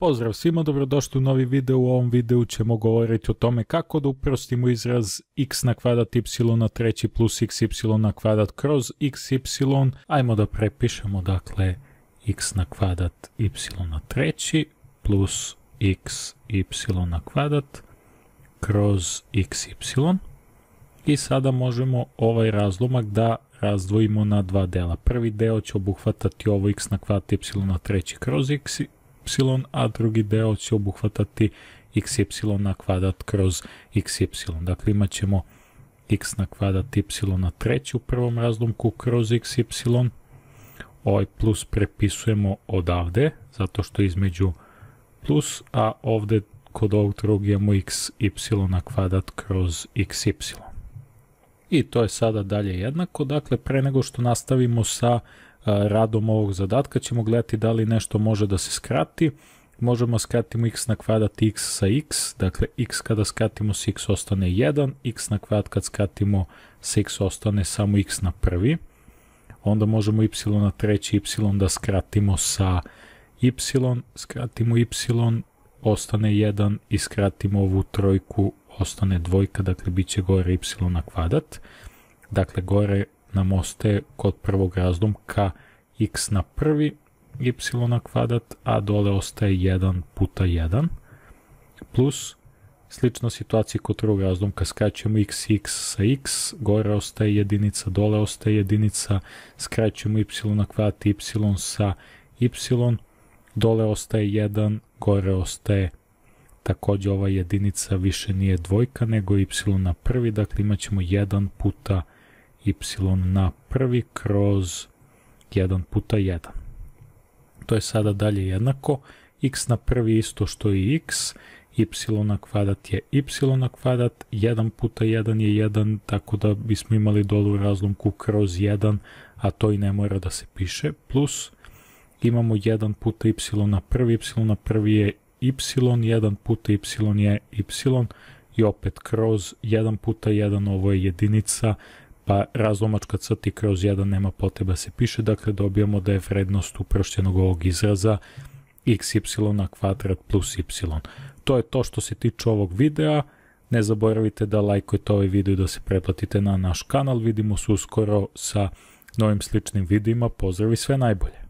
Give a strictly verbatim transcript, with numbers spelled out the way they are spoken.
Pozdrav svima, dobrodošli u novi video. U ovom videu ćemo govoriti o tome kako da uprostimo izraz x na kvadrat y na treći plus xy na kvadrat kroz xy. Ajmo da prepišemo, dakle, x na kvadrat y na treći plus xy na kvadrat kroz xy. I sada možemo ovaj razlomak da razdvojimo na dva dela. Prvi deo će obuhvatati ovo x na kvadrat y na treći kroz xy, a drugi deo će obuhvatati xy na kvadrat kroz xy. Dakle, imat ćemo x na kvadrat y na treći u prvom razlomku kroz xy. Ovaj plus prepisujemo odavde, zato što je između plus, a ovde kod ovog drugog imamo xy na kvadrat kroz xy. I to je sada dalje jednako. Dakle, pre nego što nastavimo sa radom ovog zadatka ćemo gledati da li nešto može da se skrati. Možemo skratimo x na kvadrat x sa x, dakle x kada skratimo s x ostane jedan, x na kvadrat kad skratimo s x ostane samo x na prvi. Onda možemo y na treći y da skratimo sa y, skratimo y, ostane jedan i skratimo ovu trojku, ostane dvojka, dakle bit će gore y na kvadrat. Dakle, gore nam ostaje kod prvog razlomka x na prvi y na kvadrat, a dole ostaje jedan puta jedan, plus slična situacija kod drugog razlomka, skraćujemo x x sa x, gore ostaje jedinica, dole ostaje jedinica, skraćujemo y na kvadrat y sa y, dole ostaje jedan, gore ostaje takođe ova jedinica, više nije dvojka nego y na prvi, dakle imat ćemo jedan puta y na prvi kroz jedan puta jedan. To je sada dalje jednako. X na prvi isto što i x, y na kvadrat je y na kvadrat, jedan puta jedan je jedan, tako da bismo imali dolu razlomku kroz jedan, a to i ne mora da se piše, plus imamo jedan puta y na prvi, y na prvi je y, jedan puta y je y i opet kroz jedan puta jedan, ovo je jedinica, pa razlomačka crta kroz jedan nema potreba se piše, dakle dobijamo da je vrednost uprošćenog ovog izraza xy na kvadrat plus y. To je to što se tiče ovog videa. Ne zaboravite da lajkujete ovaj video i da se pretplatite na naš kanal. Vidimo se uskoro sa novim sličnim videima. Pozdrav i sve najbolje!